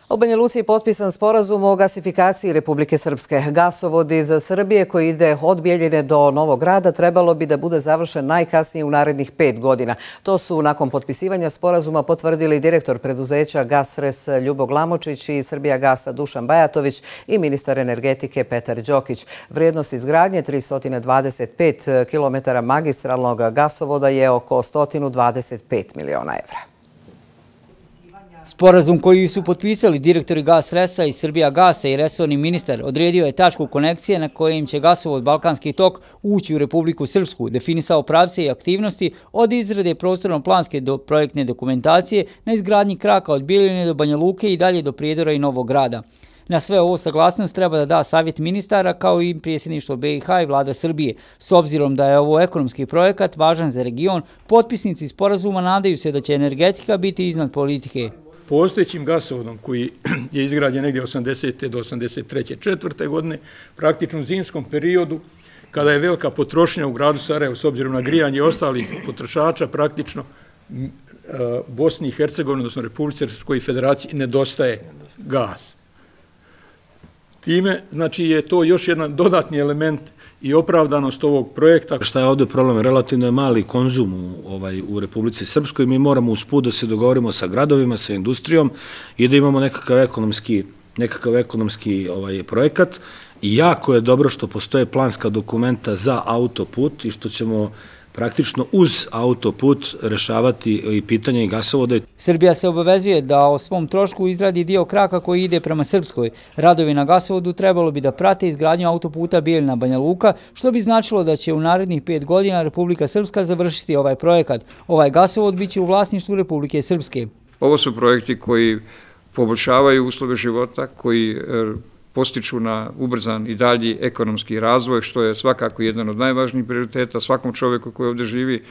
U Banja Luci je potpisan sporazum o gasifikaciji Republike Srpske. Gasovod iz Srbije koji ide od Bjeljine do Novog Grada trebalo bi da bude završen najkasnije u narednih 5 godina. To su nakon potpisivanja sporazuma potvrdili direktor preduzeća Gasres Ljubo Glamočić i Srbijagasa Dušan Bajatović i ministar energetike Petar Đokić. Vrijednost izgradnje 325 km magistralnog gasovoda je oko 125 miliona evra. Sporazum koji su potpisali direktori Gasresa i Srbijagasa i resorni ministar odredio je tačku konekcije na kojim će gasovod Balkanski tok ući u Republiku Srpsku, definisao pravce i aktivnosti od izrade prostorno-planske do projektne dokumentacije na izgradnji kraka od Bjeljine do Banja Luke i dalje do Prijedora i Novog Grada. Na sve ovo saglasnost treba da da savjet ministara kao i predsjedništvo BiH i vlada Srbije. S obzirom da je ovo ekonomski projekat važan za region, potpisnici sporazuma nadaju se da će energetika biti iznad politike. Postojećim gasovodom koji je izgrađen negdje 80. do 83. 4. godine, praktično u zimskom periodu, kada je velika potrošnja u gradu Sarajevu s obzirom na grijanje ostalih potrošača, praktično Bosni i Hercegovini, odnosno Republici Srpskoj federaciji, nedostaje gas. Time, znači, je to još jedan dodatni element i opravdanost ovog projekta. Šta je ovdje problem? Relativno je mali konzum u Republici Srpskoj. Mi moramo usput da se dogovorimo sa gradovima, sa industrijom i da imamo nekakav ekonomski projekat. I jako je dobro što postoje planska dokumenta za autoput i što ćemo praktično uz autoput rešavati i pitanje i gasovoda. Srbija se obavezuje da o svom trošku izradi dio kraka koji ide prema Srpskoj. Radovi na gasovodu trebalo bi da prate izgradnju autoputa Bijeljina-Banja Luka, što bi značilo da će u narednih 5 godina Republika Srpska završiti ovaj projekat. Ovaj gasovod biće u vlasništvu Republike Srpske. Ovo su projekti koji poboljšavaju uslove života, koji postiču na ubrzan i dalji ekonomski razvoj, što je svakako jedan od najvažnijih prioriteta svakom čovjeku koji ovdje živi,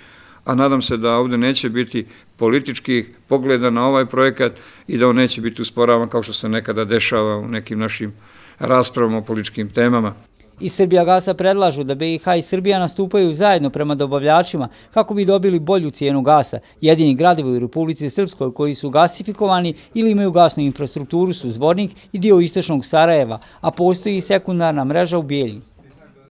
a nadam se da ovdje neće biti političkih pogleda na ovaj projekat i da on neće biti usporavan kao što se nekada dešava u nekim našim raspravama o političkim temama. Iz Srbijagasa predlažu da BiH i Srbija nastupaju zajedno prema dobavljačima kako bi dobili bolju cijenu gasa. Jedini gradovi u Republici Srpskoj koji su gasifikovani ili imaju gasnu infrastrukturu su Zvornik i dio istočnog Sarajeva, a postoji i sekundarna mreža u Bijeljini.